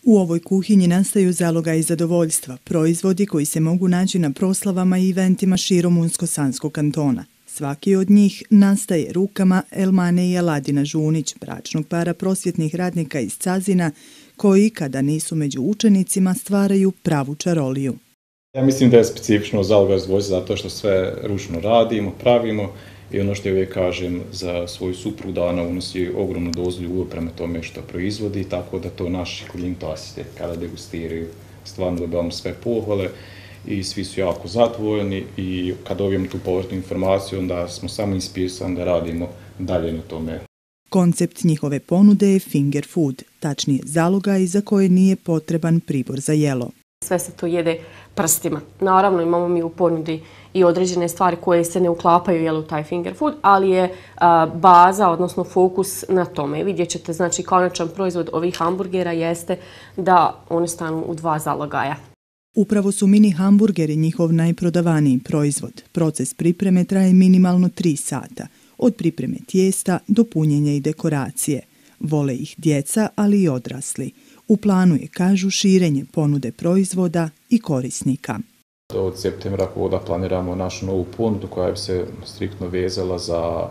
U ovoj kuhinji nastaju zalogaji zadovoljstva, proizvodi koji se mogu naći na proslavama i eventima širom Unsko-Sanskog kantona. Svaki od njih nastaje rukama Elmane i Aladina Žunić, bračnog para prosvjetnih radnika iz Cazina, koji, kada nisu među učenicima, stvaraju pravu čaroliju. Ja mislim da je specifično zalogaj zadovoljstva zato što sve ručno radimo, pravimo i ono što ja uvijek kažem za svoju suprugu da ona unosi ogromnu dozu ljubavi prema tome što proizvodi, tako da to naši klijenti osjete kada degustiraju. Stvarno dobivamo sve pohvale i svi su jako zadovoljni i kad dobijemo tu povratnu informaciju onda smo samo inspirisani da radimo dalje na tome. Koncept njihove ponude je finger food, tačnije zalogaj za koje nije potreban pribor za jelo. Sve se to jede prstima. Naravno imamo mi u ponudi i određene stvari koje se ne uklapaju u taj finger food, ali je baza, odnosno fokus na tome. Vidjet ćete, znači konačan proizvod ovih hamburgera jeste da one stanu u 2 zalogaja. Upravo su mini hamburgeri njihov najprodavaniji proizvod. Proces pripreme traje minimalno 3 sata, od pripreme tijesta do punjenja i dekoracije. Vole ih djeca, ali i odrasli. U planu je, kažu, širenje ponude proizvoda i korisnika. Od septembra da planiramo našu novu ponudu koja bi se striktno vezala za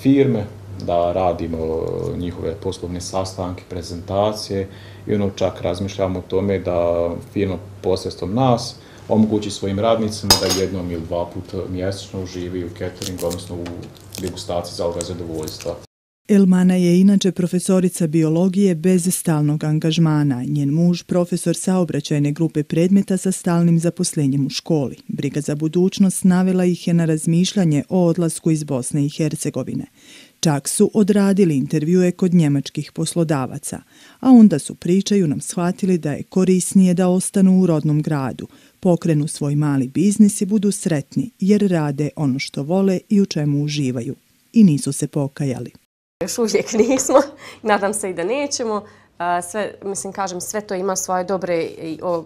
firme, da radimo njihove poslovne sastanke, prezentacije i čak razmišljamo o tome da firma posredstvom nas omogući svojim radnicima da jednom ili 2 puta mjesečno uživaju u cateringu, odnosno u degustaciji zalogaja zadovoljstva. Elmana je inače profesorica biologije bez stalnog angažmana. Njen muž profesor saobraćajne grupe predmeta sa stalnim zaposlenjem u školi. Briga za budućnost navela ih je na razmišljanje o odlasku iz Bosne i Hercegovine. Čak su odradili intervjue kod njemačkih poslodavaca, a onda su, pričaju nam, shvatili da je korisnije da ostanu u rodnom gradu, pokrenu svoj mali biznis i budu sretni jer rade ono što vole i u čemu uživaju. I nisu se pokajali. Još uvijek nismo, nadam se i da nećemo. Sve to ima svoje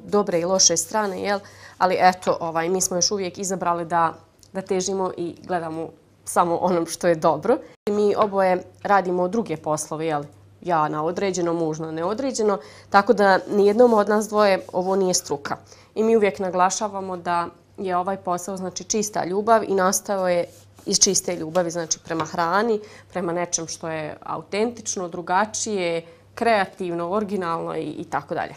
dobre i loše strane, jel? Ali eto, mi smo još uvijek izabrali da težimo i gledamo samo onom što je dobro. Mi oboje radimo druge poslove, jel? Ja na određeno, muž na neodređeno, tako da nijednom od nas dvoje ovo nije struka. I mi uvijek naglašavamo da je ovaj posao znači čista ljubav i nastao je iz čiste ljubavi, znači prema hrani, prema nečem što je autentično, drugačije, kreativno, originalno i tako dalje.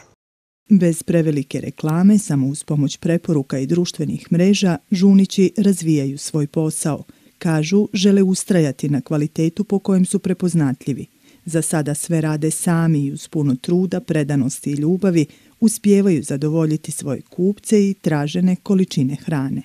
Bez prevelike reklame, samo uz pomoć preporuka i društvenih mreža, Žunići razvijaju svoj posao. Kažu, žele ustrajati na kvalitetu po kojem su prepoznatljivi. Za sada sve rade sami i uz puno truda, predanosti i ljubavi uspijevaju zadovoljiti svoje kupce i tražene količine hrane.